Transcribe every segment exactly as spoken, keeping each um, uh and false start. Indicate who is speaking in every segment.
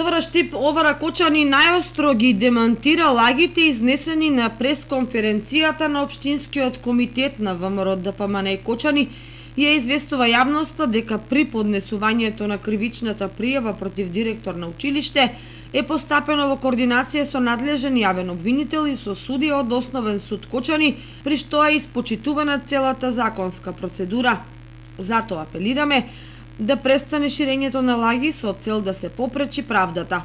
Speaker 1: СВР Штип Ова Ракочани најостро ги демантира лагите изнесени на пресконференцијата на Општинскиот комитет на ВМРО Д П М Н Кочани и ја известува јавноста дека при поднесувањето на кривичната пријава против директор на училиште е постапено во координација со надлежен јавен обвинител и со судија од Основен суд Кочани, при што е испочитувана целата законска процедура. Затоа апелираме да престане ширењето на лаги со цел да се попречи правдата.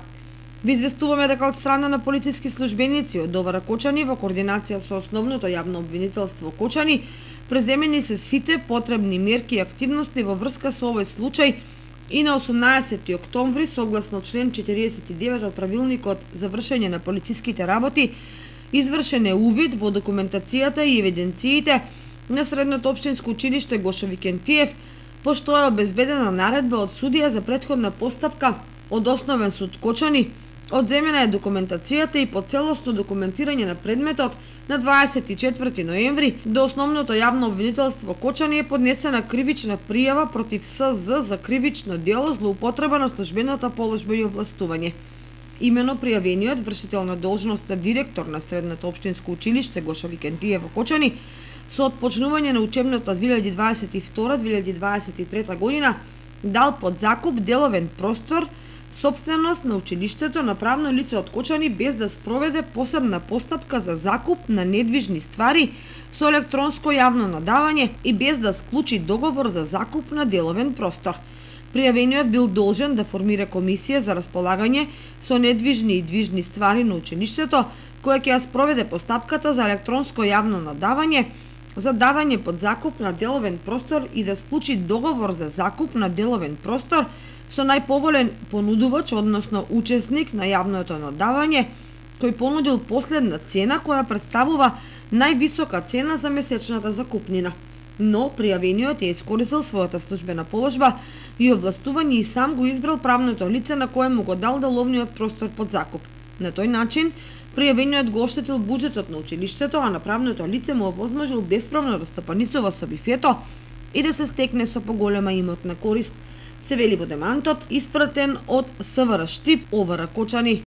Speaker 1: Ви известуваме дека од страна на полициски службеници од Ова Ракочани во координација со Основното јавно обвинителство Кочани преземени се сите потребни мерки и активности во врска со овој случај и на осумнаесети октомври согласно член четириесет и девет од правилникот за вршење на полициските работи извршен е увид во документацијата и евиденциите на Средното општинско училиште Гошо Викентиев, пошто е обезбедена наредба од судија за претходна постапка од Основен суд Кочани, одземена е документацијата и по целосно документирање на предметот на дваесет и четврти ноември до Основното јавно обвинителство Кочани е поднесена кривична пријава против С З за кривично дело злоупотреба на службената положба и овластување. Имено пријавениот вршител на должноста директор на Средното општинско училиште Гошо Викентиев во Кочани со отпочнување на учебната две илјади дваесет и втора две илјади дваесет и трета година дал под закуп деловен простор сопственост на училиштето на правно лице од Кочани без да спроведе посебна постапка за закуп на недвижни ствари со електронско јавно надавање и без да склучи договор за закуп на деловен простор. Пријавениот бил должен да формира комисија за располагање со недвижни и движни ствари на училиштето, која ќе ја спроведе постапката за електронско јавно надавање, за давање под закуп на деловен простор и да склучи договор за закуп на деловен простор со најповолен понудувач, односно учесник на јавното надавање, кој понудил последна цена која представува највисока цена за месечната закупнина. Но пријавениот е искористил својата службена положба и овластување и сам го избрал правното лице на кое му го дал деловниот простор под закуп. На тој начин, пријавениот го оштетил буџетот на училиштето, а на правното лице му овозможил бесправно да стопанисува со бифето и да се стекне со поголема имотна корист, се вели во демантот, испратен од СВР Штип Ова Ракочани.